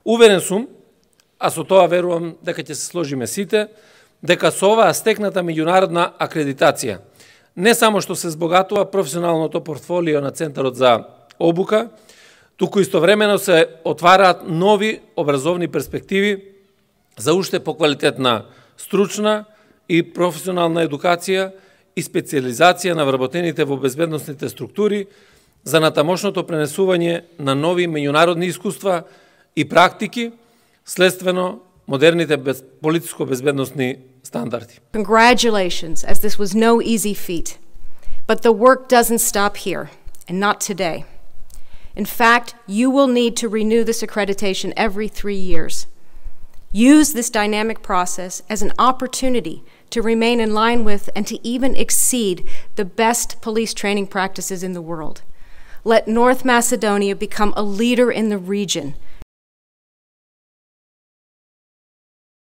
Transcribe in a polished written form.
Уверен сум, а со тоа верувам дека ќе се сложиме сите, дека со оваа стекната меѓународна акредитација не само што се збогатува професионалното портфолио на Центарот за обука, туку истовремено се отвараат нови образовни перспективи за уште поквалитетна стручна и професионална едукација и специализација на вработените во безбедносните структури за натамошното пренесување на нови меѓународни искуства и практики следствено модерните политичко-безбедносни стандарди. Congratulations, as this was no easy feat. But the work doesn't stop here, and not today. In fact, you will need to renew this accreditation every 3 years. Use this dynamic process as an opportunity to remain in line with and to even exceed the best police training practices in the world. Let North Macedonia become a leader in the region